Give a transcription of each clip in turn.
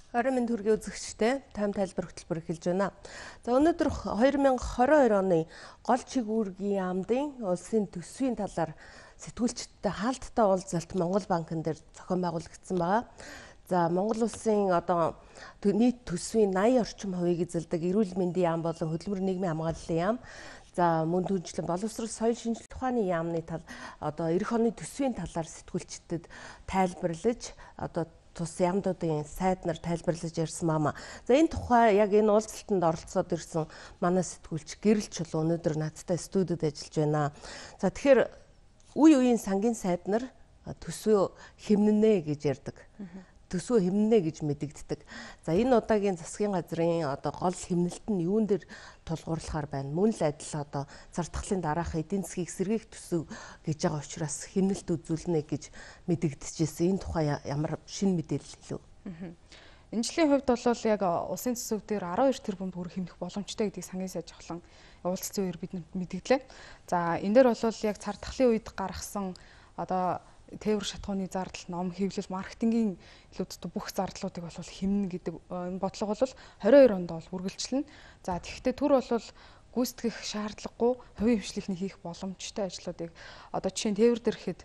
Орой минь төргийн үзэгчтэй тайм тайлбар хөтөлбөр эхэлж байна. За өнөөдөр 2022 оны гол чигүүргийн яамдын улсын төсвийн талаар сэтгүүлчдтэй хаалттай уулзалт Монгол банкн дээр зохион байгуулагдсан байгаа. За Монгол улсын нийт төсвийн 80 орчим хувийг эзэлдэг эрүүл мэндийн яам болон хөдөлмөр нийгмийн хамгааллын яам. За мөн түнчлэн боловсрол соёл шинжилгээ ухааны яамны эх оны төсвийн талаар сэтгүүлчдэд тайлбарлаж тус яамдуудын сайд нар тайлбарлаж ярьсан маа. За энэ тухай яг энэ уулзалтанд оролцоод ирсэн манай сэтгүүлч Гэрэл Чулуу өнөөдөр надтай студид ажиллаж байна. За тэгэхээр үе үеийн сангийн сайд нар төсвөө хэмнэнэ гэж ярьдаг. Төсвөө хэмнэнэ гэж мэдэгддэг. За энэ удаагийн засгийн газрын гол хэмнэлт нь юун дээр тулгуурлахаар байна. Мөн л адил зардахлын дараах эдийн засгийг сэргээх төсөв гэж байгаа учраас хэмнэлт үзүүлнэ гэж мэдэгдэжсэн. Энэ тухай ямар шинэ мэдээлэл хэлв? Энэ жилийн хувьд бол яг улсын төсөв дээр 12 тэрбум төгрөг хэмнэх боломжтой гэдгийг сангийн сайд жавхлан уулзсан үеэр бид мэдэгдлээ. За энэ дээр бол яг зардахлын үед гаргасан тээвэр шатхууны зардал, ном хэвлэл, маркетингийн илүүдтэй бүх зардлуудыг бол хэмнэн гэдэг бодлого бол 22 онд бол үргэлжлэнэ. За тэгэхдээ түр бол гүйцэтгэх шаардлагагүй хувийн хвшлийнхний хийх боломжтой ажлуудыг жишээ нь тээвэр дээр ихэд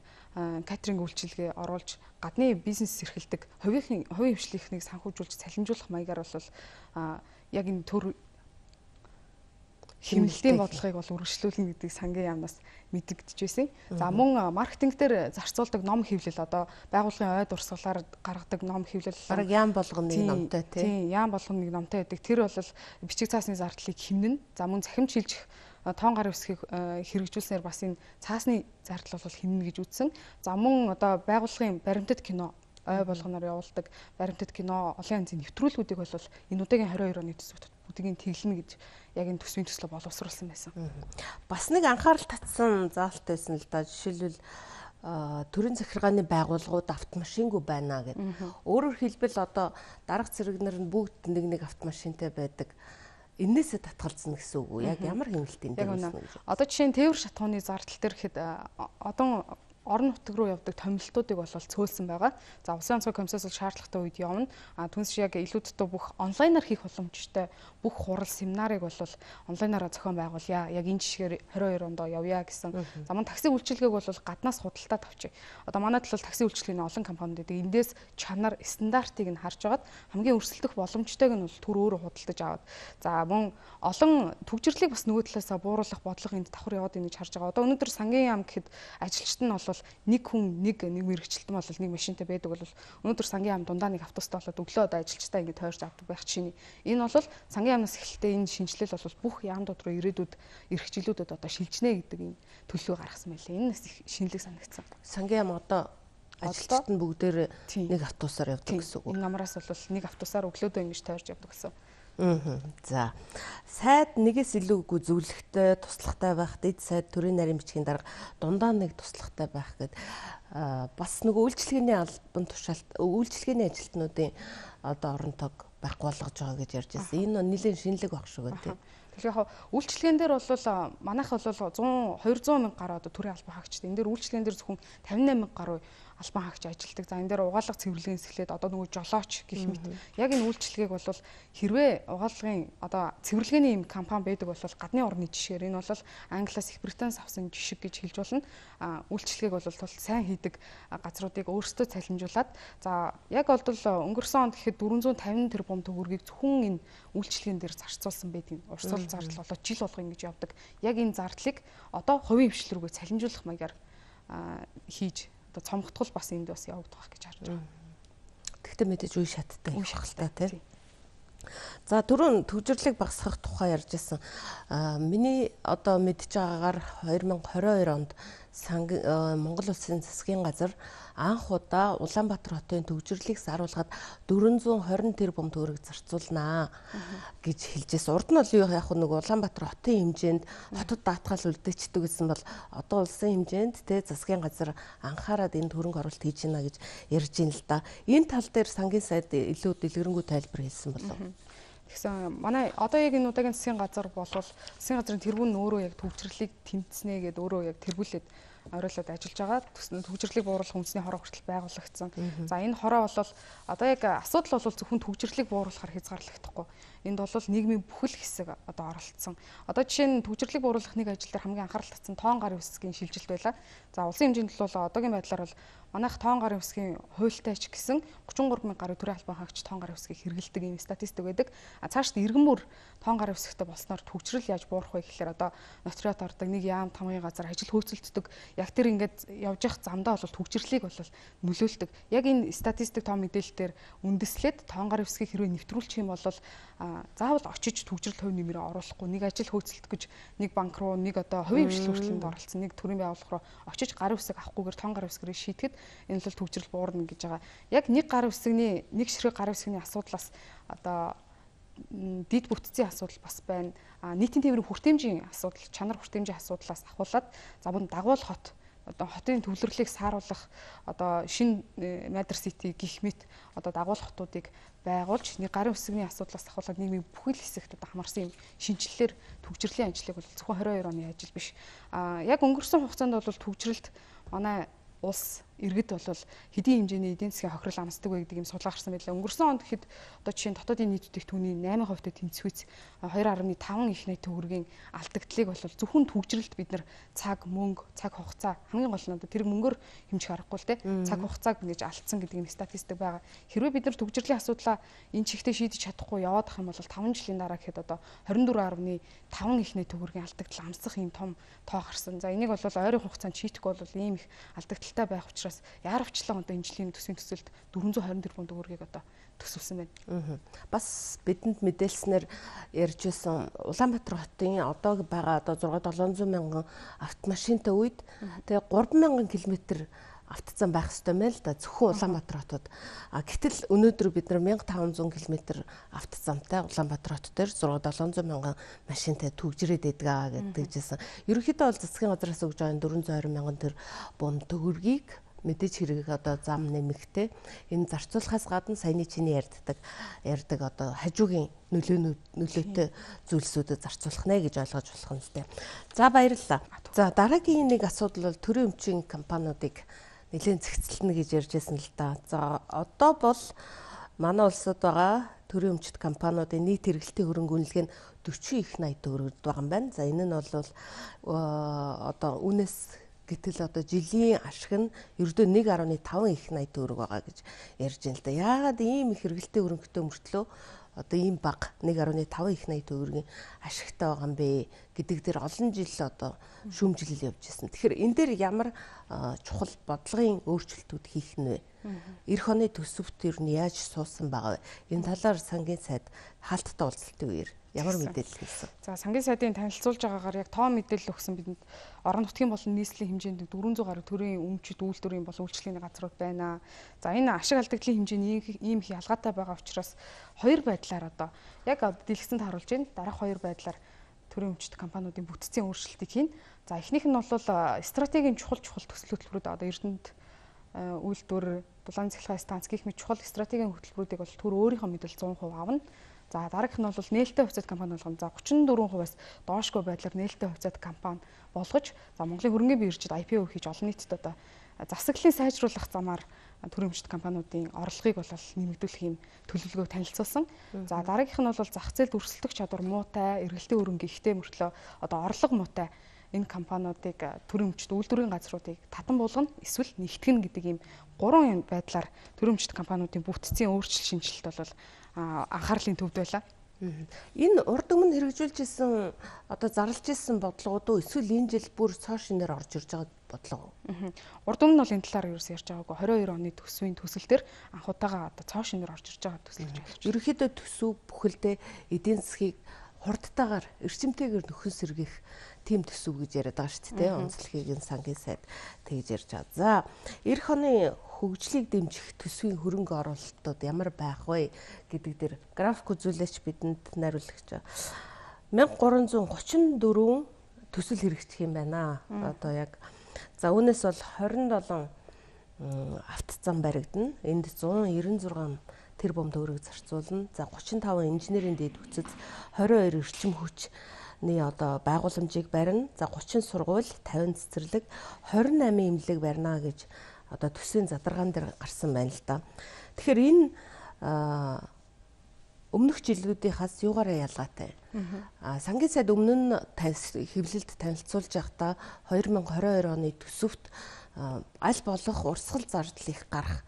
катеринг үйлчилгээ оруулж гадны бизнес эрхэлдэг хувийн хвшлийнхнийг санхүүжүүлж цалинжуулах маягаар бол яг энэ төр хэмнэлтийн бодлогыг бол үргэлжлүүлнэ гэдгийг сангийн яамнаас мэдэгдэж байсан. За мөн маркетинг дээр зарцуулдаг ном хэвлэл байгууллагын ой дурсгалаар гаргадаг ном хэвлэл бараг яам болгоно нэг номтой тийм яам болгоно нэг номтой байдаг. Тэр бол бичиг цаасны зардлыг хэмнэн. За мөн цахим шилжих тоон гар үсгийг хэрэгжүүлснээр бас энэ цаасны зардал бол хэмнэн гэж үзсэн. За мөн байгууллагын баримтат кино ой болгоноор явуулдаг баримтат кино олон янзын нэвтрүүлгүүдийг бол энэ удаагийн 22 оны төсөвт бүгдийг тэглэнэ гэж яг энэ төсвийн төслөө боловсруулсан байсан. Бас нэг анхаарал татсан заалт байсан л да. Жишээлбэл төрийн захиргааны байгууллагууд автомашингүй байна гэдэг. Өөрөөр хэлбэл дарга цэрэгнэр нь бүгд нэг автомашинтай байдаг. Энээсээ татгалзна гэсэн үг үү? Яг ямар хэмнэлтийн дээр байна вэ? Жишээ нь тээвэр шатхууны зардал дээр ихэд орон нутаг руу явдаг томилтуудыг бол цөөлсөн байгаа. За улсын онцгой комиссаас шаардлагатай үед явна. Түнш яг илүүдтэй бүх онлайнаар хийх боломжтой бүх хурал семинарыг бол онлайнаараа зохион байгуулъя. Яг энэ жишгээр 22 онд явъя гэсэн. За мөн такси үйлчилгээг бол гаднаас худалдаад авчи. Манайд бол такси үйлчилгээний олон компаниуд байдаг. Эндээс чанар стандартыг нь харж агаад хамгийн өрсөлдөх боломжтойг нь бол түр өөрөө худалдаж аваад. За мөн олон төвчрлийг бас нөгөө талаасаа бууруулах бодлого энд давхар яваад ийн гэж харж байгаа. Өнөөдөр сангийн яам гэхэд ажилчид нь бол нэг хүн нэг мэрэгчлэлтэн бол нэг машинтай байдаг бол өнөөдөр сангийн яам дундаа нэг автобустай болоод өглөө ажилчтай ингэ тойрч авдаг байх чинь энэ бол сангийн яамнаас эхэлтэй энэ шинжилэл бол бүх яамдууд руу ирээдүйд эрх жилүүдэд шилжнэ гэдэг энэ төлөв гаргасан байлээ. Энэ нас их шинэлэг санагдсан. Сангийн яам ажилчид нь бүгдээр нэг автобусаар явдаг гэсэн үг. Энэ намраас бол нэг автобусаар өглөөдөө ингэж тойрч явдаг гэсэн. За сайд нэгээс илүүгүй зөвлөгтэй туслахтай байх, дэд сайд төрийн нарийн бичгийн дарга дундаа нэг туслахтай байх гэд бас нөгөө үйлчлэгээний албан тушаалт үйлчлэгээний ажилтнуудын оронтойг байхгүй болгож байгаа гэж ярьж байсан. Энэ нэлээд шинэлэг баг шүү гэдэг. Тэгэхээр яг үйлчлэгэн дээр бол манайх бол 200 мянга гаруй төрийн албан хаагчид. Энэ дээр үйлчлэгэн дээр зөвхөн 58 мянга гаруй албан хаагч ажилтдаг. За энэ дээр угаалга цэвэрлэгээс эхлээд нөгөө жолооч гэх мэт. Яг энэ үйлчлэгийг бол хэрвээ угаалгын цэвэрлэгээний юм компани байдаг бол гадны орны жишгээр энэ бол Англиас Их Британаас авсан жишг гэж хэлж болно. Үйлчлэгийг бол сайн хийдэг газруудыг өөрсдөө цалинжуулаад за яг бол өнгөрсөн онд гэхэд 450 тэрбум төгрөгийг зөвхөн энэ үйлчлэгэн дээр зарцуулсан байдаг. Урсгал зардал болоод жил болго ингэж явдаг. Яг энэ зардлыг хувийн хвшил рүүгээ цалинжуулах маягаар хийж цомгтгол бас энд бас явагдах байх гэж харж байгаа. Тэгтээ мэдээж үе шаттай явах л та тийм. За түрүүн төвжирлийг багасгах тухай ярьж байсан. Миний мэдж байгаагаар 2022 онд Монгол Улсын засгийн газар анх удаа Улаанбаатар хотын төвжирлийг саруулгаад 420 тэрбум төгрөг зарцуулнаа гэж хэлжсэн. Урд нь бол яг Улаанбаатар хотын хэмжээнд хотод даатгал үлдээчдэг гэсэн бол улсын хэмжээнд засгийн газар анхаарад энэ хөрөнгө оруулалт хийж байна гэж ярьж ин л да. Энэ тал дээр сангийн сайд илүү дэлгэрэнгүй тайлбар хэлсэн болов. Тэгсэн манай яг энэ удаагийн засгийн газар болвол засгийн газрын тэргүүн нь өөрөө яг төвчрлийг тэмцснэ гэдээ өөрөө яг тэргүүлээд оройлоод ажиллаж байгаа. Төгжрлийг бууруулах үндэсний хороо хүртэл байгуулагдсан. За энэ хороо бол одоо яг асуудал бол зөвхөн төгжрлийг бууруулахаар хязгаарлагдахгүй. Энд бол нийгмийн бүхэл хэсэг одоо оролцсон. Одоо жишээ нь төгжрлийг бууруулах нэг ажил дээр хамгийн анхаарал татсан тоон гарын үсгийн шилжилт байла. За улсын хэмжээнд бол одоогийн байдлаар бол манайх тоон гарын үсгийн хуультай ч гэсэн 33,000 гаруй төрийн албан хаагч тоон гарын үсгийг хэрэглэдэг ийм статистик байдаг. А цаашд иргэн бүр тоон гарын үсгтэй болсноор төгжрөл яаж буурах вэ гэхээр одоо нотериот ордог нэг яам тамгын газар ажил хөөцөлддөг. Яг тэр ингээд явж явах замдаа бол төгжрлийг бол нөлөөлдөг. Яг энэ статистик тоо мэдээлэлээр үндэслээд тоон гарын үсгийг хэрвээ нэвтрүүлчих юм бол заавал очиж төгжрөл хувь нэмрээ оруулахгүй нэг ажил хөөцөлдөх гэж нэг банк руу нэг одоо хувийн хвшил хүртэлд оролцсон нэг төрийн байгууллага руу очиж гарын үсэг авахгүйгээр тоон гарын үсгэрээ шийтгэхэд энэ бол төгжрөл буурна гэж байгаа. Яг нэг гарын үсгний нэг ширхэг гарын үсгний асуудлаас одоо дид бүтцийн асуудал бас байна. Нийтийн тээврийн хүртээмжийн асуудал, чанар хүртээмжийн асуудлаас ахуулаад за бүр дагуул хот одоо хотын төвлөрлийг сааруулах одоо шинэ Matter City гэх мэт одоо дагуул хотуудыг байгуулж нэг гарын үсгний асуудлаас ахуулаад нийгмийн бүхэл хэсэгт одоо хамарсан юм шинжилэлээр төгжрлийн ажлыг бол зөвхөн 22 оны ажил биш. Яг өнгөрсөн хугацаанд бол төгжрэлт манай улс иргэд бол хэдийн хэмжээний эдийн засгийн хохирол амсдаг вэ гэдэг юм судалгаа гарсан байлаа. Өнгөрсөн онд хэд одоо жишээ нь дотоодын нийт бүтээгдэхүүний 8% тэнцвүүц 2.5 их найт төгрөгийн алдагдлыг бол зөвхөн төгжрэлт бид нар цаг, мөнгө, цаг хугацаа хамгийн гол нь одоо тэр мөнгөөр хэмжих аргагүй л те. Цаг хугацааг ингэж алдсан гэдэг нэг статистик байгаа. Хэрвээ бид нар төгжрлийн асуудлаа энэ чигтээ шийдэж чадахгүй яваад ах юм бол 5 жилийн дараа гэхэд одоо 24.5 их найт төгрөгийн алдагдал амсах юм том тоо гарсан. За энийг бол ойрын хугацаанд шийдэхгүй бол ийм их алдагдaltaй байх учраас яарвчлан одоо энэ жилийн төсвийн төсөлд 420 тэрбум төгрөгийг одоо төсөвсөн байна. Бас бидэнд мэдээлснээр ярьж байсан Улаанбаатар хотын одоо байгаа одоо 600-700 мянган автомашинтай үед тэгээ 3,000 км автозан байх ёстой мэл да зөвхөн Улаанбаатар хотод. Гэтэл өнөөдөр бид нар 1500 км автозамтай Улаанбаатар хот дээр 600-700 мянган машинтай төгжрээд байдаг гэдэг жисэн. Ерөнхийдөө бол засгийн газраас өгж байгаа 420 мянган тэрбум төгрөгийг мэдээж хэрэг одоо зам нэмэгтэй энэ зарцуулахаас гадна саяны чиний ярьдаг одоо хажуугийн нөлөөтэй зүйлсүүдэд зарцуулах нэ гэж ойлгож болох юм зү. За баярлалаа. За дараагийн нэг асуудал бол төрийн өмчийн компаниудыг нэлээд зэгцэлнэ гэж ярьжсэн л да. За одоо бол манай улсад байгаа төрийн өмчит компаниудын нийт хэрэглэлтийн хөрөнгө үнэлгээ нь 40 их 80 төгрөгд байгаа юм байна. За энэ нь бол одоо үнэс гэтэл одоо жилийн ашиг нь ердөө 1.5 их 80 төгрөг байгаа гэж ярьж байна л да. Яагаад ийм их хэрэглэлтийн хөрөнгөтэй мөртлөө одоо ийм бага 1.5 их 80 төгрөгийн ашигтай байгаа юм бэ гэдэг дээр олон жил одоо шүүмжлэл явж ирсэн. Тэгэхээр энэ дээр ямар чухал бодлогын өөрчлөлтүүд хийх нь вэ? Эх оны төсөвт ер нь яаж суусан байгаа вэ? Энэ талаар сангийн сайд хаалттай уулзалтын үеэр ямар мэдээлэл хэлсэн? За сангийн сайдын танилцуулж байгаагаар яг тоо мэдээлэл өгсөн бидэнд орон нутгийн болон нийслэлийн хэмжээнд 400 гаруй төрийн өмчит үйлдвэрийн болон үйлчлэгийн газрууд байна. За энэ ашиг алдагдлын хэмжээ нь ийм их ялгаатай байгаа учраас хоёр байдлаар одоо яг дэлгэцэнд харуулж байна. Дараах хоёр байдлаар төрийн өмчит компаниудын бүтцийн өөрчлөлтийг хийн. За эхнийх нь бол стратегийн чухал төсөл хөтөлбөрүүд одоо Эрдэнэт үйлдвэр, дулаан цахилгаан станц гэх мэт чухал стратегийн хөтөлбөрүүдийг бол төр өөрийнхөө мэдээлэл 100% авна. За дараагийнх нь бол нээлттэй хувьцаат компани болгоно. За 34%-аас доошгүй байдлаар нээлттэй хувьцаат компани болгож за Монголын хөрөнгөний биржид IPO хийж олон нийтэд одоо засаглалыг сайжруулах замаар төрийн өмчит компаниудын орлогыг бол нэмэгдүүлэх юм төлөвлөгөөг танилцуулсан. За дараагийнх нь бол зах зээлд өрсөлдөх чадвар муутай, эргэлтийн хөрөнгө ихтэй мөртлөө одоо орлого муутай энэ компаниудыг төрийн өмчит үйлдвэрийн газруудыг татан буулгана, эсвэл нэгтгэн гэдэг ийм гурван байдлаар төрийн өмчит компаниудын бүтцийн өөрчлөлт шинжилэлт бол анхаарлын төвд байлаа. Энэ урд өмнө хэрэгжүүлж исэн одоо зарлж исэн бодлогууд уу эсвэл энэ жил бүр цоо шинээр орж ирж байгаа бодлого уу? Урд өмнө бол энэ талаар юу ярьж байгаагүй 22 оны төсвийн төсөл дээр анхудаага одоо цоо шинээр орж ирж байгаа төсөл гэж байна. Ерөнхийдөө төсөв бүхэлдээ эдийн засгийг хурдтайгаар эрчимтэйгээр нөхөн сэргийх тийм төсөв гэж яриад байгаа шүү дээ. Онцлогийг сангийн сайд тэгж ярьж байгаа. За эх оны хөгжлийг дэмжих төсвийн хөрөнгө оруулалтууд ямар байх вэ гэдэг дээр график үзүүлэлт бидэнд найруулагч 1334 төсөл хэрэгжих юм байна. Одоо яг за үүнээс бол 27 автозам баригдана. Энд 196 тэрбум төгрөг зарцуулна. За 35 инженерийн дэд бүтцэд 22 эрчим хүч одоо байгууламжийг барина. За 30 сургууль, 50 цэцэрлэг, 28 эмнэлэг барина гэж одоо төсвийн задаргаан дээр гарсан байна л да. Тэгэхээр энэ өмнөх жилүүдийнхаас юугаараа ялгаатай? Сангийн сайд өмнө нь хэвлэлд танилцуулж байхдаа 2022 оны төсөвт аль болох урсгал зардал их гарах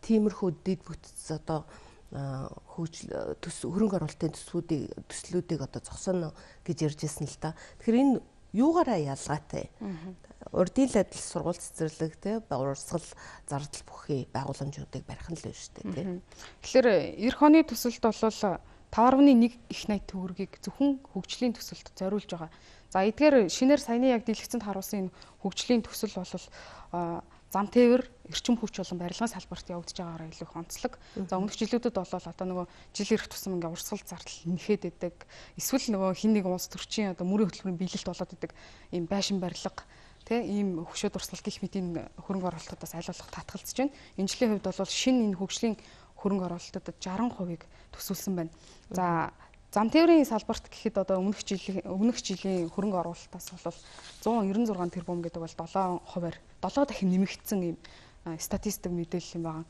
тиймэрхүү дэд бүтц одоо хөрөнгө оруулалтын төслүүдийг одоо зогсооно гэж ярьж ирсэн л да. Тэгэхээр энэ юугаараа ялгаатай? Урдийн адил сургууль цэцэрлэг те урсгал зардал бүхий байгууламжуудыг барих нь л байна шүү дээ тий. Тэгэхээр эх оны төсөлд бол 5.1 их найт төгрөгийг зөвхөн хөгжлийн төсөлд зориулж байгаа. За эдгээр шинээр саяны яг дэлгэцэнд харуулсан энэ хөгжлийн төсөл бол зам тээвэр, эрчим хүч болон барилгын салбарт явагдаж байгаагаар илүү их онцлог. За өмнөх жилүүдэд бол одоо нөгөө жил ирэх тусам ингээ урсгал зардал нэхэд идэг. Эсвэл нөгөө хин нэг улс төрчийн одоо мөрийн хөтөлбөрийн биелэлт болоод идэг ийм байшин барилга ийм хөшөөд урсгал гэх мэт энэ хөрөнгө оруулалтуудаас аль болох татгалзаж байна. Энэ жилийн хувьд бол шинэ энэ хөгжлийн хөрөнгө оруулалтуудад 60%-ийг төсвөлсөн байна. За зам тээврийн салбарт гэхэд одоо өмнөх жилийн хөрөнгө оруулалтаас бол 196 тэрбум гэдэг бол 7%-аар 7 дахин нэмэгдсэн ийм статистик мэдээлэл юм байна.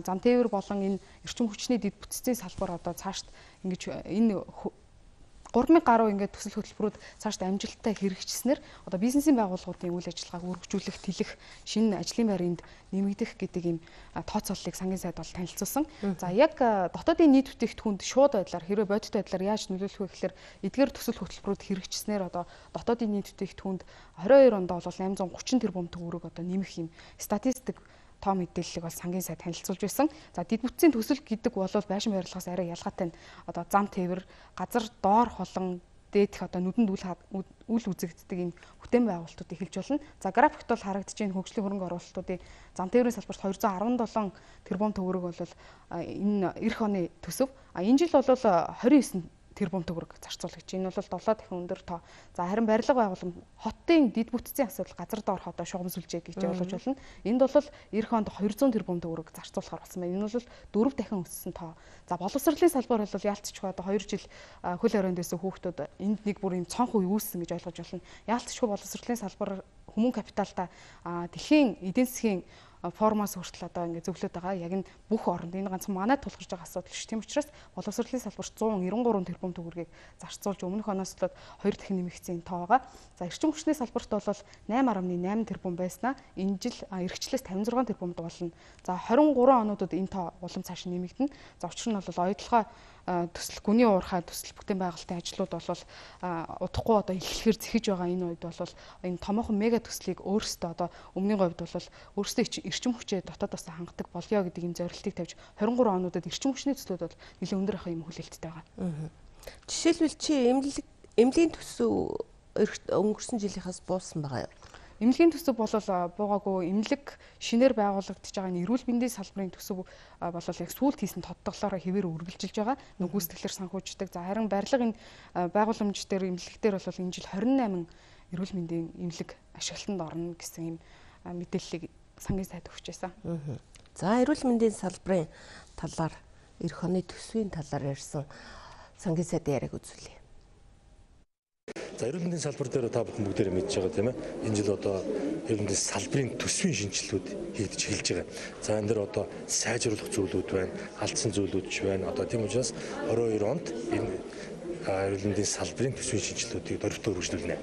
Зам тээвэр болон энэ эрчим хүчний дэд бүтцийн салбар одоо цаашд ингэж энэ 3000 гаруй ингээд төсөл хөтөлбөрүүд цаашд амжилттай хэрэгжснээр одоо бизнесийн байгууллагуудын үйл ажиллагааг үргэлжлүүлэх, тэлэх, шинэ ажлын байр энд нэмэгдэх гэдэг ийм тооцооллыг сангийн сайд бол танилцуулсан. За яг дотоодын нийт бүтээгдэхүүнд шууд байдлаар хэрвээ бодит байдлаар яаж нөлөөлөх вэ гэхээр эдгээр төсөл хөтөлбөрүүд хэрэгжснээр одоо дотоодын нийт бүтээгдэхүүнд 22 онд бол 830 тэрбум төгрөг одоо нэмэх ийм статистик тоо мэдээллийг бол сангийн сайд танилцуулж байсан. За дэд бүтцийн төсөл гэдэг бол байшин барилгаас арай ялгаатай нь одоо зам тээвэр, газар доор холон дээдх одоо нүдэнд үл үзэгддэг энэ бүтээн байгуулалтуудыг хэлж болно. За графикт бол харагдаж байна хөгжлийн хөрөнгө оруулалтуудын зам тээврийн салбарт 217 тэрбум төгрөг бол энэ эх оны төсөв. Энэ жил бол 29 тэрбум төгрөг зарцуулж. Энэ бол 7 дахин өндөр тоо. За харин барилга байгуулалт хотын дэд бүтцийн асуудал газар доорх одоо шугамсүлжээ гэж ойлгож болно. Энд бол эх онд 200 тэрбум төгрөг зарцуулахар болсон байна. Энэ бол 4 дахин өссөн тоо. За боловсролын салбар бол яалтчгүй одоо 2 жил хөл хорионд байсан хүүхдүүд энд нэг бүр юм цонх үе үүссэн гэж ойлгож байна. Яалтчгүй боловсролын салбар хүмүүн капиталтай дэлхийн эдийн засгийн формоос хүртэл одоо ингэ зөвлөд байгаа. Яг энэ бүх оронд энэ ганцхан манай тулгарч байгаа асуудал шүү. Тийм учраас боловсролын салбарт 193 тэрбум төгрөгийг зарцуулж өмнөх оноос л 2 дахин нэмэгдсэн тоо байгаа. За эрчим хүчний салбарт бол 8.8 тэрбум байснаа энэ жил эрхчлээс 56 тэрбумд болно. За 23 онуудад энэ тоо улам цааш нэмэгдэнэ. За учир нь бол оюутлогоо төсөл гүний уурхай төсөл бүтээн байгуулалтын ажлууд бол удахгүй одоо эхлэхээр зэхэж байгаа энэ үед бол энэ томоохон мега төслийг өөрсдөө одоо өмнөний говьд бол өөрсдөө эрчим хүчээ дотоодоос хангадаг болёо гэдэг энэ зорилтыг тавьж 23 онуудад эрчим хүчний төслүүд бол нэлээд өндөр ах юм хүлээлттэй байгаа. Жишээлбэл чи эмнэлгийн төсөв өнгөрсөн жилийнхаас буусан байгаа юу? Эмнэлгийн төсөв бол буугаагүй эмнэлэг шинээр байгуулагдаж байгаа энэ эрүүл мэндийн салбарын төсөв бол яг сүүлд хийсэн тодтоглолоор хэвээр үргэлжилж байгаа. Гүйцэтгэлээр санхүүждэг. За харин барилга энэ байгууламж дээр эмнэлэг дээр бол энэ жил 28 эрүүл мэндийн эмнэлэг ашиглалтанд орно гэсэн юм мэдээллийг сангийн сайд өгч байсан. За эрүүл мэндийн салбарын талаар эх оны төсвийн талаар ярьсан сангийн сайдын яриаг үзүүлье. За эрүүл мэндийн салбар дээр та бүхэн бүгдээрээ мэдж байгаа тийм ээ. Энэ жил одоо эрүүл мэндийн салбарын төсвийн шинжилгүүд хийгдэж эхэлж байгаа. За энэ дээр одоо сайжруулах зүйлүүд байна, алдсан зүйлүүд ч байна. Одоо тийм учраас 22 онд энэ эрүүл мэндийн салбарын төсвийн шинжилгүүдийг дөрвөлтөөр үргэлжлүүлнэ.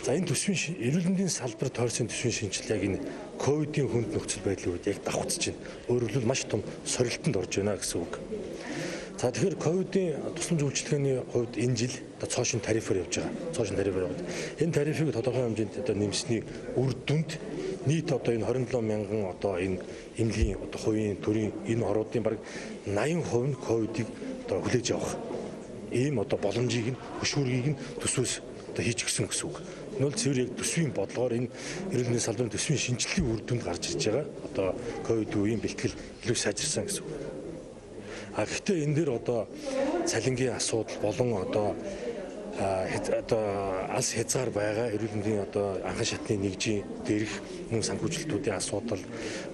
За энэ төсвийн эрүүл мэндийн салбар тойрсон төсвийн шинжилгээ яг энэ ковидын хүнд нөхцөл байдлын үед яг давхцаж байна. Өөрөөр хэлбэл маш том сорилтонд орж байна гэсэн үг. За тэгэхээр ковидын тусламж үйлчилгээний хувьд энэ жил одоо цоошин тарифаар явж байгаа. Цоошин тарифаар яваад энэ тарифыг тодорхой хэмжээнд одоо нэмсэний үр дүнд нийт одоо энэ 27 мянган одоо энэ эмнэлгийн одоо хувийн төрийн энэ оруудын бараг 80% нь ковидыг одоо хүлээж авах ийм одоо боломжийг нь хөшүүргийг нь төсвөөс одоо хийж гисэн гэсэн үг. Нөл цэвэр яг төсвийн бодлогоор энэ эрүүл мэндийн салбарын төсвийн шинжилгээний үр дүнд гарч ирж байгаа. Одоо ковид үеийн бэлтгэл илүү сайжирсан гэсэн үг. Гэхдээ энэ дээр одоо цалингийн асуудал болон одоо алс хязгаар байгаа эрүүл мэндийн одоо анхан шатны нэгжийн дээрх мөн санхүүжилтүүдийн асуудал.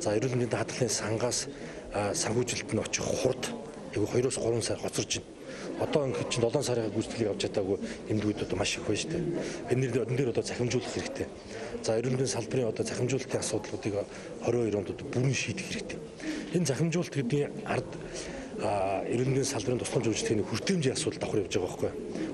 За эрүүл мэндийн даатгалын сангаас санхүүжилт нь очих хурд яг 2-3 сар хоцорж байна. одоо ингээд чинь 7 сарын гүйцэтгэлийг авч чадаагүй эмнэлгүүд одоо маш их байна шүү дээ. Энэ дээр одоо захимжуулах хэрэгтэй. За эрүүл мэндийн салбарын одоо захимжуулалтын асуудлуудыг 22 онд одоо бүрэн шийдэх хэрэгтэй. Энэ захимжуулалт гэдгийн ард эрүүл мэндийн салбарын тусламж үйлчлэгийн хүртээмжийн асуудал давхар явж байгаа байхгүй.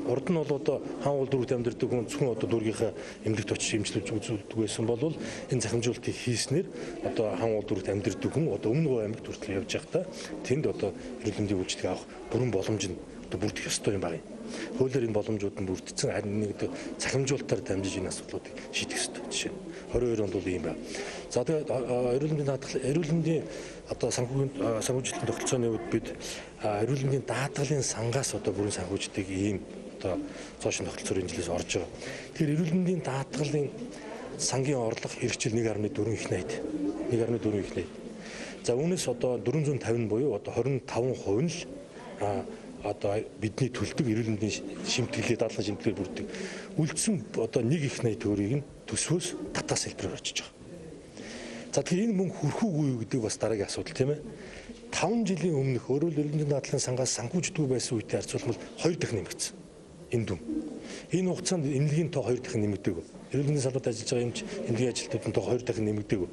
Урд нь бол одоо хаан уул дүүрэгт амьдардаг хүн зөвхөн одоо дүүргийнхаа эмнэлэгт очиж эмчилж үзүүлдэг байсан бол энэ захимжуулалтыг хийснээр одоо хаан уул дүүрэгт амьдардаг хүн одоо өмнө Говь аймагт хүртэл явж байхдаа тэнд одоо эрүүл мэндийн үйлчлэгийг авах бүрэн боломж нь одоо бүрдэх ёстой юм байна. Хуулиар энэ боломжууд нь бүрдсэн, харин нэг захимжуулалтаар дамжиж энэ асуудлуудыг шийдэх ёстой жишээ нь 22 онд бол ийм байна. За тэгээд эрүүл мэндийн одоо санхүүжилтийн тогтолцооны үед бид эрүүл мэндийн даатгалын сангаас одоо бүрэн санхүүждэг ийм одоо цоошин тогтолцоор энэ жилээс орж байгаа. Тэгэхээр эрүүл мэндийн даатгалын сангийн орлого хэрэгжил 1.4 их найд. 1.4 их найд. За үүнээс одоо 450 буюу одоо 25% нь л одоо бидний төлдөг эрүүл мэндийн шимтгэлээ дадлан шимтгэлээр бүрддэг. Үлдсэн одоо 1 их 80 төгрөгийг нь төсвөөс татаас хэлбэрээр очиж байгаа. За тэгэхээр энэ мөнгө хүрэх үгүй юу гэдэг бас дараагийн асуудал тийм ээ. 5 жилийн өмнөх эрүүл мэндийн дадлан сангаас санхүүждгүй байсан үетэй харьцуулбал 2 дахин нэмэгдсэн. Энэ дүн. Энэ хугацаанд эмнэлгийн тоо 2 дахин нэмэгдээгүй. Эрүүл мэндийн салбарт ажиллаж байгаа эмч эмнэлгийн ажилтнуудын тоо 2 дахин нэмэгдээгүй.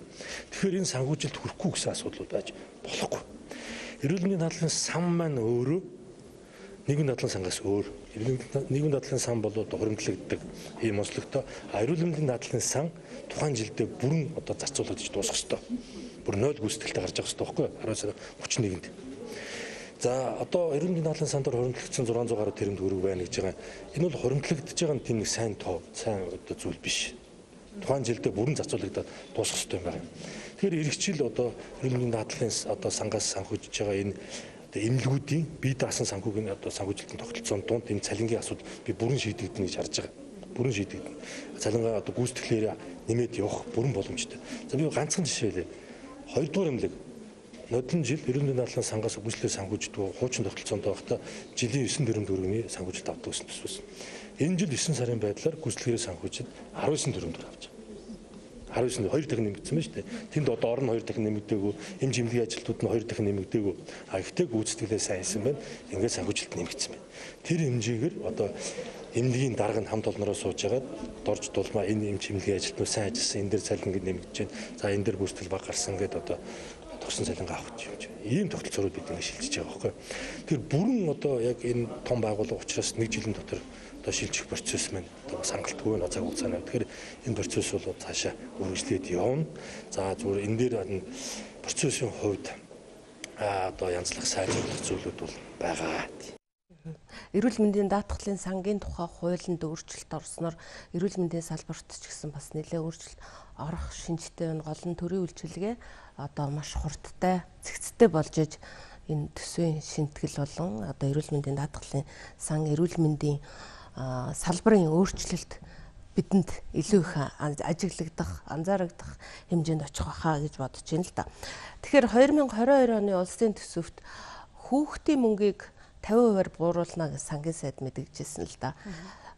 Тэгэхээр энэ санхүүжилт хүрэхгүй гэсэн асуудлууд байж болохгүй. Эрүүл мэндийн дадлан сан маань өөрөө нийгмийн дадлан сангаас өөр. Нийгмийн дадлан сан бол одоо хуримтлагддаг ийм онцлогтой. Эрүүл мэндийн дадлан сан тухайн жилдээ бүрэн одоо зарцуулагдаж дуусах ёстой. Бүр 0 гүйцэтгэлтэй гарч явах ёстой байхгүй юу? 12 сарын 31-нд. За одоо эрүүл мэндийн дадлан сандаар хуримтлагдсан 600 гаруй тэрбум төгрөг байна гэж байгаа. Энэ бол хуримтлагдж байгаа нь тийм нэг сайн тоо, сайн одоо зүйл биш. Тухайн жилдээ бүрэн зарцуулагдаад дуусах ёстой юм байна. Тэгэхээр эргэжил одоо эрүүл мэндийн дадлан одоо сангаас санхүүжиж байгаа энэ эмнэлгүүдийн бие даасан санхүүгийн одоо санхүүжилтийн тогтолцоонд дунд энэ цалингийн асуудал би бүрэн шийдэгдэнэ гэж харж байгаа. Бүрэн шийдэгдэнэ. Цалингаа одоо гүйцэтгэлээр нэмээд явах бүрэн боломжтой. За би ганцхан жишээ хэлээ. 2 дугаар эмнэлэг нодлон жил эрүүл мэндийн дадлан сангаас гүйцэтгэлээр санхүүждэг хуучин тогтолцоонд байхдаа жилийн 9 тэрбум төгрөгийн санхүүжилт авдаг гэсэн төсвөөс. Энэ жил 9 сарын байдлаар гүйцэтгэлээр санхүүжид 19 тэрбум төгрөг авч байгаа. 19 2 дахин нэмэгдсэн байна шүү дээ. Тэнд одоо орн 2 дахин нэмэгдээгүй, эмч эмнэлгийн ажилтнууд нь 2 дахин нэмэгдээгүй. Гэхдээ гүйцэтгэлээ сайн хийсэн байна. Ингээд санхүүжилт нэмэгдсэн байна. Тэр хэмжээгээр одоо эмнэлгийн дарга нь хамт олноороо сууж агаад дорж дулмаа энэ эмч эмнэлгийн ажилтнууд сайн ажилласан, энэ дээр цалин ингээд нэмэгдэж байна. За энэ дээр гүйцэтгэл баг гарсан гэдэг одоо тогсон цалингаа авах юм чинь. Ийм тогтолцоорууд бид ингээд шилжиж байгаа байхгүй. Тэр бүрэн одоо яг энэ том байгууллага учраас 1 жилийн дотор одоо шилжих процесс маань одоо сангалтгүй цаг хугацааны. Тэгэхээр энэ процесс бол цаашаа үргэлжлээд явна. За зүгээр энэ дээр процессын хувьд одоо янзлах сайжруулах зүйлүүд бол байгаа. Эрүүл мэндийн даатгалын сангийн тухай хуулинд өөрчлөлт орсноор эрүүл мэндийн салбарт ч гэсэн бас нэлээд өөрчлөлт орох шинжтэй байна. Гол нь төрийн үйлчилгээ одоо маш хурдтай, цэгцтэй болж иж энэ төсвийн шинтгэл болон одоо эрүүл мэндийн даатгалын сан эрүүл мэндийн салбарын өөрчлөлт бидэнд илүү их ажиглагдах, анзаарагдах хэмжээнд очих байхаа гэж бодож байна л да. Тэгэхээр 2022 оны улсын төсөвт хүүхдийн мөнгийг 50%-аар бууруулна гэж сангийн сайд мэдгэжсэн л да.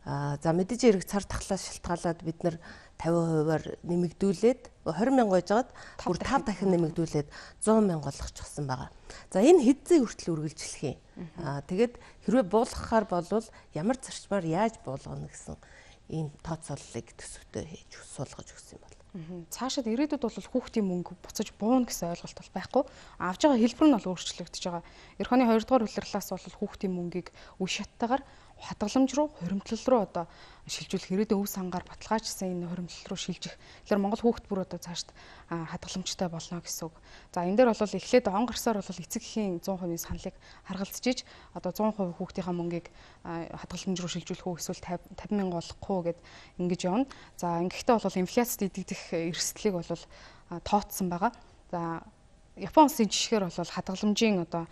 За мэдээж хэрэг цар тахлаас шалтгаалаад бид нар 50%-аар нэмэгдүүлээд 20 мянга байжгаад бүр 5 дахин нэмэгдүүлээд 100 мянга болгочихсон байгаа. За энэ хэдзээ хүртэл үргэлжлэх юм. Тэгээд хэрвээ буулгахаар болвол ямар зарчмаар яаж буулгана гэсэн ийм тооцооллыг төсөвтөө хийж суулгаж өгсөн юм бол. Цаашид ирээдүйд бол хүүхдийн мөнгө буцаж бууна гэсэн ойлголт бол байхгүй. Авж байгаа хэлбэр нь бол өөрчлөгдөж байгаа. Эх оны 2 дугаар улирлаас бол хүүхдийн мөнгийг үе шаттайгаар хадгаламж руу, хуримтлал руу одоо шилжүүлэх ирээдүйн өв сангаар баталгаажсан энэ хуримтлал руу шилжих. Тэгэхээр Монгол хүүхд бүр одоо цаашд хадгаламжтай болно гэсэн үг. За энэ дээр бол эхлээд он гарсаар бол эцэг эхийн 100% саналыг харгалзаж одоо 100% хүүхдийнхаа мөнгийг хадгаламж руу шилжүүлэх үү эсвэл 50 мянга болохгүй уу гэд ингэж явна. За ингэхдээ бол инфляцид идэгдэх эрсдлийг бол тооцсон байгаа. За Японы улсын жишгээр бол хадгаламжийн одоо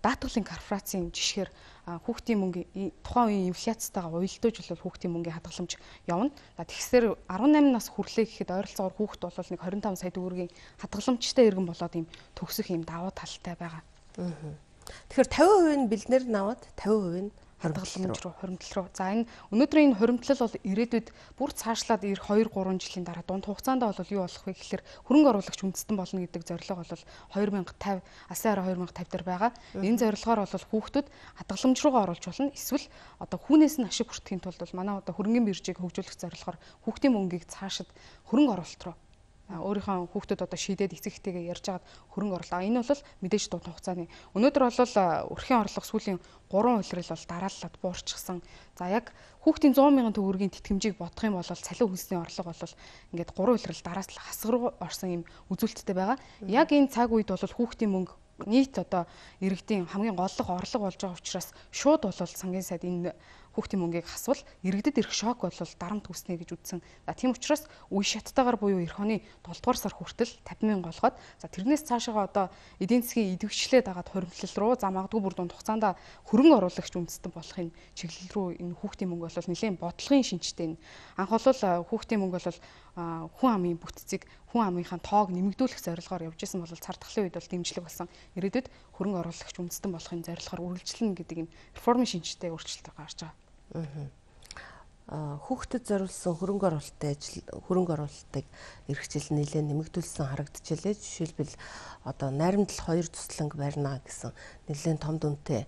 даатгалын корпорацийн жишгээр хүүхдийн мөнгө тухайн үеийн инфляцтайгаа уялдуулж бол хүүхдийн мөнгөний хадгаламж явна. Тэгэхээр 18 нас хүрлээ гэхэд ойролцоогоор хүүхд бол нэг 25 сая төгрөгийн хадгаламжтай иргэн болоод ийм төгсөх ийм давуу талтай байгаа. Тэгэхээр 50% нь бэлнээр наваад 50% нь хадгаламж руу, хуримтлал руу. За энэ өнөөдрийн хуримтлал бол ирээдүйд бүр цаашлаад ирэх 2-3 жилийн дараа дунд хугацаанд бол юу болох вэ гэхээр хөрөнгө оруулагч үндэстэн болно гэдэг зорилго бол 2050 АСЕАН 2050 дээр байгаа. Энэ зорилгоор бол хүүхдүүд хадгаламж руугаа оруулж болно. Эсвэл одоо хүүнээс нь ашиг хүртэхийн тулд бол манай одоо хөрөнгөний биржийг хөгжүүлэх зорилгоор хүүхдийн мөнгийг цаашид хөрөнгө оруулалт руу өөрийнхөө хүүхдүүд одоо шийдээд эцэг эхтэйгээ ярьж агаад хөрөнгө оруулаа. Энэ бол мэдээж дунд хугацааны. Өнөөдөр бол өрхийн орлого сүүлийн 3 улирал бол дарааллаад буурчихсан. За яг хүүхдийн 100 мянган төгрөгийн тэтгэмжийг бодох юм бол цалин хөлсний орлого бол ингээд 3 улирал дараас л хасаг руу орсон юм үзүүлэлттэй байгаа. Яг энэ цаг үед бол хүүхдийн мөнгө нийт одоо иргэдийн хамгийн голлого орлого болж байгаа учраас шууд бол сангийн сайд энэ хүүхдийн мөнгийг хасвал иргэдэд ирэх шок бол дарамт үүснэ гэж үзсэн. За тийм учраас үе шаттайгаар буюу эх оны 7 дугаар сар хүртэл 50 мянга олгоод за тэрнээс цаашаа одоо эдийн засгийн идэвхжлээд агаад хуримтлал руу за магадгүй бүр дунд хугацаанд хөрөнгө оруулагч үндэстэн болохын чиглэл рүү энэ хүүхдийн мөнгө бол нэлээд бодлогын шинжтэй. Анх бол хүүхдийн мөнгө бол хүн амын бүтцийг хүн амынхаа тоог нэмэгдүүлэх зорилгоор явж исэн бол цар тахлын үед бол дэмжлэг болсон. Ирээдүйд хөрөнгө оруулагч үндэстэн болохын зорилгоор үргэлжлэнэ гэдэг ийм реформын шинжтэй өөрчлөлт гарч байгаа. Хүүхдэд зориулсан хөрөнгө оруулалтыг эх жил нэлээд нэмэгдүүлсэн харагдчихлээ. Жишээлбэл одоо найрамдал 2 тусланг барина гэсэн нэлээд том дүнтэй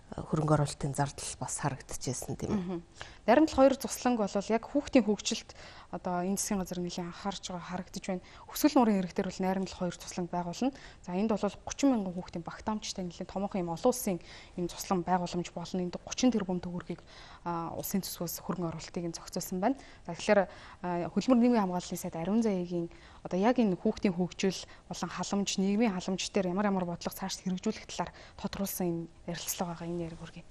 хөрөнгө оруулалтын зардал бас харагдчихсэн тийм ээ. Найрамдал 2 тусланг бол яг хүүхдийн хөгжилд одоо энэ засгийн газар нэлийн анхаарч байгаа харагдаж байна. Өсгөл нуурын ирэх дээр бол найрамдал 2 тусланг байгуулна. За энд бол 30 мянган хүүхдийн багтаамжтай нэлээд томоохон юм олон улсын юм туслан байгууламж болно. Энд 30 тэрбум төгрөгийг улсын төсвөөс хөрөнгө оруулалтыг зохицуулсан байна. За тэгэхээр хөдөлмөр нийгмийн хамгааллын сайд Ариун Заяагийн одоо яг энэ хүүхдийн хөгжил болон халамж, нийгмийн халамж дээр ямар бодлого цааш хэрэгжүүлэх талаар тодруулсан энэ ярилцлага байгаа. Энэ яриг хүргэе.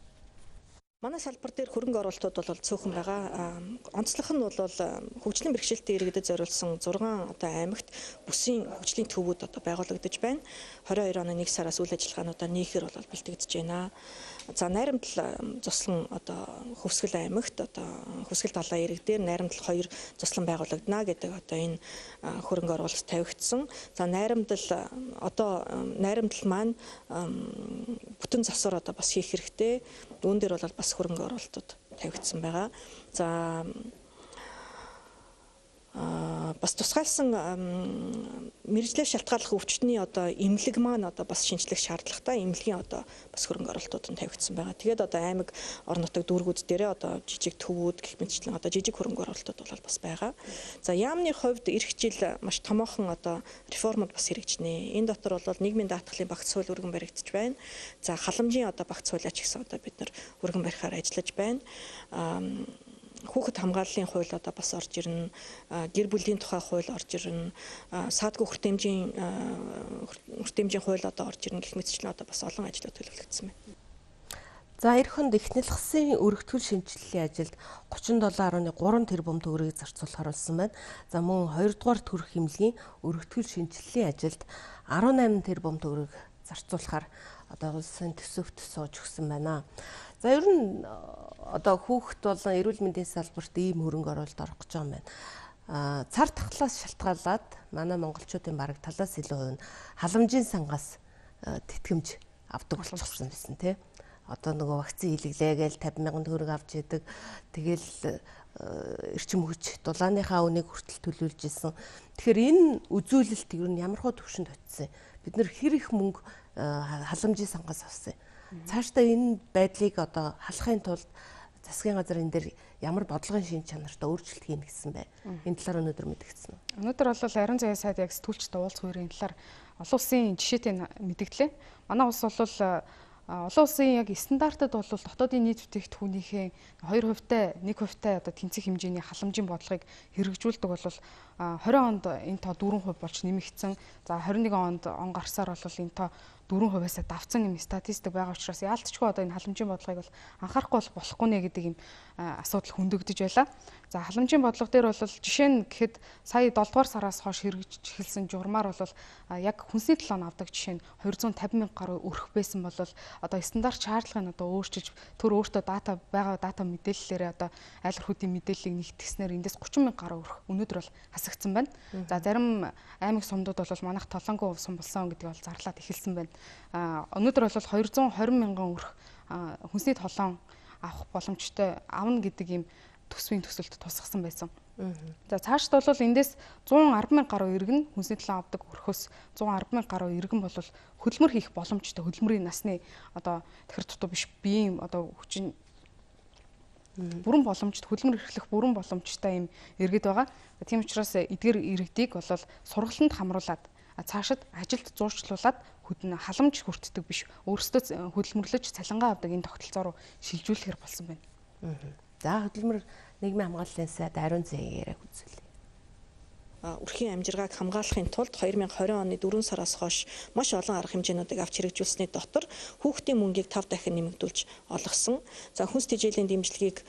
Манай салбар дээр хөрөнгө оруулалтууд бол цөөхөн байгаа. Онцлог нь бол хөгжлийн бэрхшээлтэй иргэдэд зориулсан 6 одоо аймагт бүсийн хөгжлийн төвүүд одоо байгуулагдаж байна. 22 оны 1 сараас үйл ажиллагаануудаа нийхээр бол бэлтгэж байна. За найрамдал заслан одоо Хөвсгөл аймагт одоо Хөвсгөл далайн ирэг дээр найрамдал 2 заслан байгуулагдана гэдэг одоо энэ хөрөнгө оруулалт тавигдсан. За найрамдал маань бүтэн засвар одоо бас хийх хэрэгтэй. Үүн дээр бол бас хөрөнгө оруулалтууд тавигдсан байгаа. За бас тусгайлсан мэргэжлээ шалтгааллах өвчтний одоо эмнэлэг маань одоо бас шинжлэх шаардлагатай эмнэлгийн одоо бас хөрөнгө оруулалтууд нь тавигдсан байгаа. Тэгээд одоо аймаг орон нутаг дүүргүүд дээрээ одоо жижиг төвүүд гэх мэтчлэн одоо жижиг хөрөнгө оруулалтууд бол бас байгаа. За яамны хувьд эх жил маш томоохон одоо реформуд бас хэрэгжинэ. Энэ дотор бол нийгмийн даатгалын багц хууль өргөн баригдаж байна. За халамжийн одоо багц хуулиач гэсэн одоо бид нар өргөн барихаар ажиллаж байна. Хүүхэд хамгааллын хууль одоо бас орж ирнэ, гэр бүлийн тухай хууль орж ирнэ, саадгүй хүртээмжийн хууль одоо орж ирнэ гэх мэтчлэн одоо бас олон ажлууд төлөвлөгдсөн байна. За эх хонд эхнэл хасын өргөтгөл шинжилгээний ажилд 37.3 тэрбум төгрөгийг зарцуулахар болсон байна. За мөн 2 дугаар төрөх хэмнэлийн өргөтгөл шинжилгээний ажилд 18 тэрбум төгрөгийг зарцуулахар одоо улсын төсөвт сууж өгсөн байна. За ер нь одоо хүүхэд болон эрүүл мэндийн салбарт ийм хөрөнгө оруулалт орох гэж байгаа юм байна. Цар тахлаас шалтгаалаад манай монголчуудын бараг талаас илүү хувь нь халамжийн сангаас тэтгэмж авдаг болчихсон байсан тий. Одоо нөгөө вакцин хийлгэлээ гээл 50 мянган төгрөг авч идэг. Тэгэл эрчим хүч дулааныхаа үнийг хүртэл төлөвлөж исэн. Тэгэхээр энэ үзүүлэлт ер нь ямар хөө төвшөнд очисон. Бид нэр хэр их мөнгө халамжийн сангаас авсан. Цаашдаа энэ байдлыг одоо халахын тулд засгийн газар энэ дээр ямар бодлогын шинж чанартай өөрчлөлт хийнэ гэсэн бай. Энэ талаар өнөөдөр мэдгдсэн үү? Өнөөдөр бол Ариун Заяа сайд яг сэтгүүлчтэй уулзах үеийн талаар олон улсын жишээтэй мэдгдлээ. Манай улс бол олон улсын яг стандартад бол дотоодын нийт бүтээгдэхүүнийхээ 2%-тай 1%-тай одоо тэнцэх хэмжээний халамжийн бодлогыг хэрэгжүүлдэг бол 20 онд энэ тоо 4% болж нэмэгдсэн. За 21 онд он гарсаар бол энэ тоо 4%-аас давцсан юм статистик байгаа учраас яалтчгүй одоо энэ халамжийн бодлогыг бол анхаарахгүй болохгүй нэ гэдэг юм асуудал хөндөгдөж байлаа. За халамжийн бодлого дээр бол жишээ нь гэхэд сая 7 дугаар сараас хойш хэрэгжиж эхэлсэн журмаар бол яг хүнсний талаан авдаг жишээ нь 250 мянга гаруй өрөх байсан бол одоо стандарт шаардлагыг одоо өөрчилж төр өөртөө дата мэдээллээрээ одоо айл өрхүүдийн мэдээллийг нэгтгэснээр эндээс 30 мянга гаруй өрөх өнөөдөр бол хасагдсан байна. За зарим аймаг сумдууд бол манайх толонгүй сум болсон гэдэг бол зарлаад эхэлсэн байна. Өнөөдөр бол 220 мянган өрх хүнсний толон авах боломжтой авна гэдэг ийм төсвийн төсөлд тусгасан байсан. За цаашд бол эндээс 110,000 гаруй иргэн хүнсний талаа авдаг өрхөөс 110,000 гаруй иргэн бол хөдөлмөр хийх боломжтой хөдөлмөрийн насны одоо тахир дутуу биш биеийн одоо хүчин бүрэн боломжтой хөдөлмөр эрхлэх бүрэн боломжтой юм иргэд байгаа. Тийм учраас эдгээр иргэдийг бол сургалтанд хамруулад цаашид ажилд зурчлуулад халамж хүртдэг биш өөрсдөө хөдөлмөрлөж цалингаа авдаг энэ тогтолцоо руу шилжүүлэхээр болсон байна. За хөдөлмөр нийгмийн хамгааллын сайд Ариун зэгийн яриаг үзүүлье. Үрхийн амжиргааг хамгаалахын тулд 2020 оны 4 сараас хойш маш олон арга хэмжээнүүдийг авч хэрэгжүүлсэний дотор хүүхдийн мөнгийг 5 дахин нэмэгдүүлж олгосон. За хүнс тэжээлийн дэмжлэгийг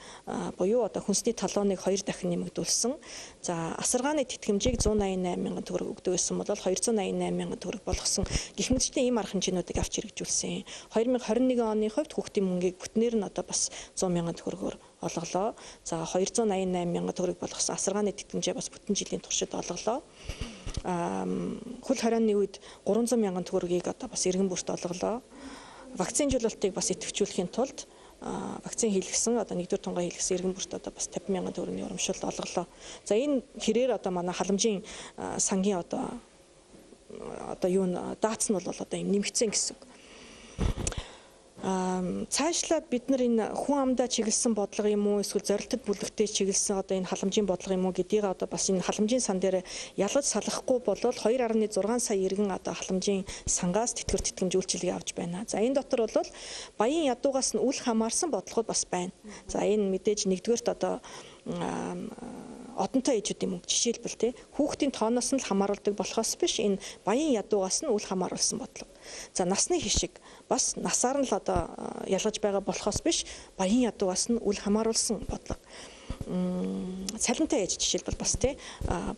буюу одоо хүнсний талооныг 2 дахин нэмэгдүүлсэн. За асаргааны тэтгэмжийг 188,000 төгрөг өгдөг байсан бол 288,000 төгрөг болгосон. Гэх мэтчтэй ийм арга хэмжээнүүдийг авч хэрэгжүүлсэн. 2021 оны хувьд хүүхдийн мөнгийг бүтнээр нь одоо бас 100,000 төгрөгөөр олголоо. За 288,000 төгрөг болгосон асаргааны тэтгэмжээ бас бүтэн жилийн туршид олголоо. Хөл хорионы үед 300,000 төгрөгийг одоо бас иргэн бүрт олголоо. Вакцинжуулалтыг бас идэвхжүүлэхийн тулд вакцин хийлгэсэн одоо 1-р тунгаа хийлгэсэн иргэн бүрт одоо бас 50,000 төгрөгийн урамшуулт олголоо. За энэ хэрээр одоо манай халамжийн сангийн одоо юу даатс нь бол одоо юм нэмэгдсэн гэсэн үг. Цаашлаад бид нар энэ хүн амдаа чиглэсэн бодлого юм уу эсвэл зорилтод бүлэгтээ чиглэсэн одоо энэ халамжийн бодлого юм уу гэдгийг одоо бас энэ халамжийн сан дээр ялгаж салахгүй болол 2.6 сая иргэн одоо халамжийн сангаас тэтгэвэр тэтгэмж үйлчилгээ авч байна. За энэ дотор бол баян ядуугаас нь үл хамаарсан бодлогод бас байна. За энэ мэдээж нэгдүгээрт одоо одонтой ээжүүдийн мөнгө жишээлбэл тий хүүхдийн тооноос нь л хамааруулдаг болохоос биш энэ баян ядуугаас нь үл хамааруулсан бодлого. За насны хишиг бас насаар нь л одоо ялгаж байгаа болохоос биш баян ядуугаас нь үл хамааруулсан бодлого. Цалинтай ээж жишээлбэл бас тий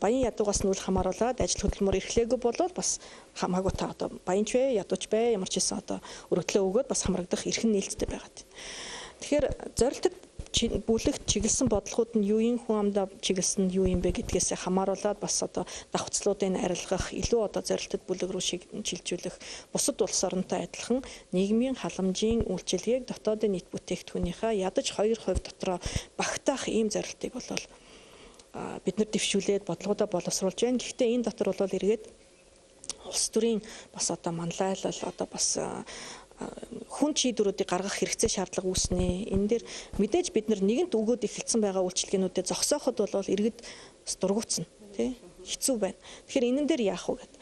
баян ядуугаас нь үл хамааруулаад ажил хөдөлмөр эрхлээгүй болвол бас хамаагүй та одоо баянч вэ ядууч бэ ямар ч хэсэн одоо өргөдлөө өгөөд бас хамрагдах эрхэм нээлттэй байгаа. Тэгэхээр зорилтод бүлэгт чиглэсэн бодлогууд нь юу юм хүн амдаа чиглэсэн юу юм бэ гэдгээс хамааруулаад бас одоо давхцлуудыг арилгах илүү одоо зорилтод бүлэг рүү шилжүүлэх бусад улс оронтой адилхан нийгмийн халамжийн үйлчилгээг дотоодын нийт бүтээгдэхүүнийхээ ядаж 2% дотроо багтаах ийм зорилтыг бол бид нар дэвшүүлээд бодлогуудаа боловсруулж байна. Гэхдээ энэ дотор бол эргээд улс төрийн бас одоо манлайлал одоо бас хүн шийдвэрүүдийг гаргах хэрэгцээ шаардлага үүснэ. Энэ дээр мэдээж бид нэгэнт өгөөд эхэлсэн байгаа үйлчилгээнүүдэд зогсооход бол иргэд дургуутсан тий хэцүү байна. Тэгэхээр энэ дээр яах вэ гэдэг.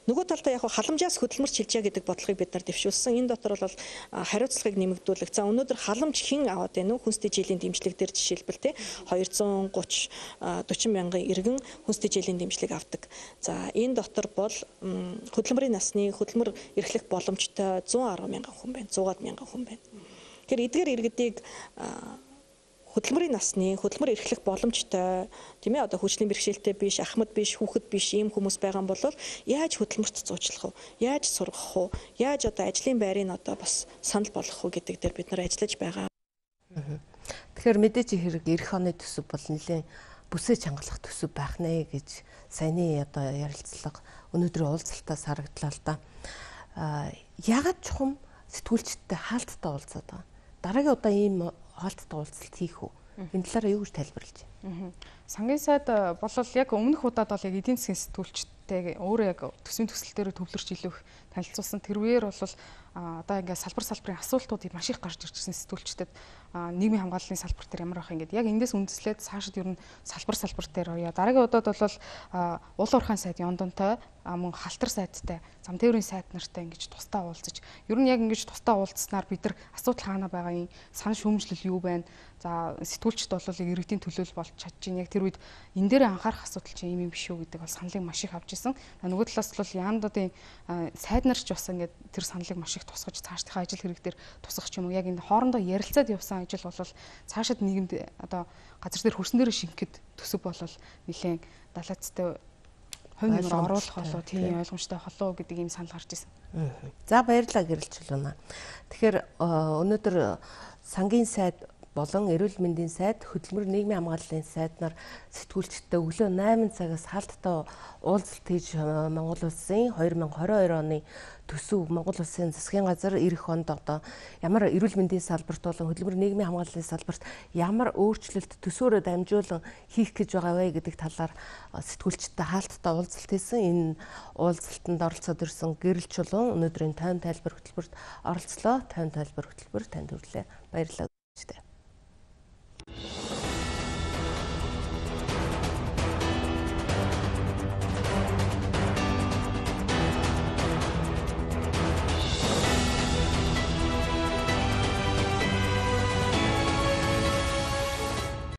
Нөгөө талдаа яг халамжаас хөдөлмөр чилжээ гэдэг бодлогыг бид нар дэвшүүлсэн. Энэ дотор бол хариуцлагыг нэмэгдүүлэх. За өнөөдөр халамж хэн аваад байна уу? Хүнс тэжээлийн дэмжлэг дээр жишээлбэл тий 230-40 мянган иргэн хүнс тэжээлийн дэмжлэг авдаг. За энэ дотор бол хөдөлмөрийн насны хөдөлмөр эрхлэх боломжтой 110 мянган хүн байна. 100 мянган хүн байна. Тэгэхээр эдгээр иргэдийг хөдөлмөрийн насны хөдөлмөр эрхлэх боломжтой тийм ээ одоо хүчлийн бэрхшээлтэй биш ахмад биш хүүхэд биш ийм хүмүүс байгаа юм бол яаж хөдөлмөрт зуучлах вэ? Яаж сургах вэ? Яаж одоо ажлын байрыг одоо бас санал болгох вэ гэдэг дээр бид нар ажиллаж байгаа. Тэгэхээр мэдээж хэрэг эх оны төсөв бол нэлээд бүсээ чангалах төсөв байх нэ гэж саяны одоо ярилцлага өнөөдрийн уулзалтаас харагдлаа л да. Ягаад чухам сэтгүүлчдтэй хаалттай уулзаад байгаа. Дараагийн удаа ийм хаалттай уулзалт хийх үү? Энэ талаараа юу гэж тайлбарлаж байна? Сангийн сайд болол яг өмнөх удаад бол яг эдийн засгийн сэтгүүлчтэй өөрөө яг төсвийн төсөл дээр төвлөрч илүү их танилцуулсан. Тэрвээр бол одоо ингээд салбарын асуултуудыг маш их гарч ирж ирсэн сэтгүүлчдэд нийгмийн хамгааллын салбар дээр ямар байх юм гэдэг. Яг эндээс үндэслээд цаашид ер нь салбар дээр орё. Дараагийн удаад бол уул уурхайн сайд Яндонтой мөн халтар сайдтай, зам тээврийн сайд нартай ингэж тусдаа уулзаж. Ер нь яг ингэж тусдаа уулзснаар бид нар асуудал хаана байгаа юм, санал шүүмжлэл юу байна? За сэтгүүлчд бол иргэдийн төлөөлөл болж чадчихин. Яг тэр үед энэ дээр анхаарах асуудал чинь юм биш үү гэдэг бол саналыг маш их авч ирсэн. Нөгөө талаас бол Яндодын сайд нар ч бас ингээд тэр саналыг маш их тусгаж цаашдынхаа ажил хэрэг дээр тусгах юм уу? Яг энэ хоорондоо ярилцаад явсан ажил бол цаашид нийгэмд одоо газар дээр хөрсөн дээр шингэхэд төсөв бол нэлээд далайцтай хувь нэмэр оруулах болоо тийм ойлгомжтой холоо гэдэг ийм санал гарч ирсэн. За баярлалаа гэрэлжил байна. Тэгэхээр өнөөдөр сангийн сайд болон эрүүл мэндийн сайд, хөдөлмөр нийгмийн хамгааллын сайд нар сэтгүүлчдтэй өглөө 8 цагаас хаалттай уулзалт хийж Монгол улсын 2022 оны төсөв Монгол улсын засгийн газар ирэх онд одоо ямар эрүүл мэндийн салбарт болон хөдөлмөр нийгмийн хамгааллын салбарт ямар өөрчлөлт төсөөрөө дамжуулан хийх гэж байгаа вэ гэдэг талаар сэтгүүлчдтэй хаалттай уулзалт хийсэн. Энэ уулзалтанд оролцоод ирсэн Гэрэл Чулуун өнөөдрийн тайван тайлбар хөтөлбөрт оролцлоо. Тайван тайлбар хөтөлбөр танд хүрэлээ. Баярлалаа.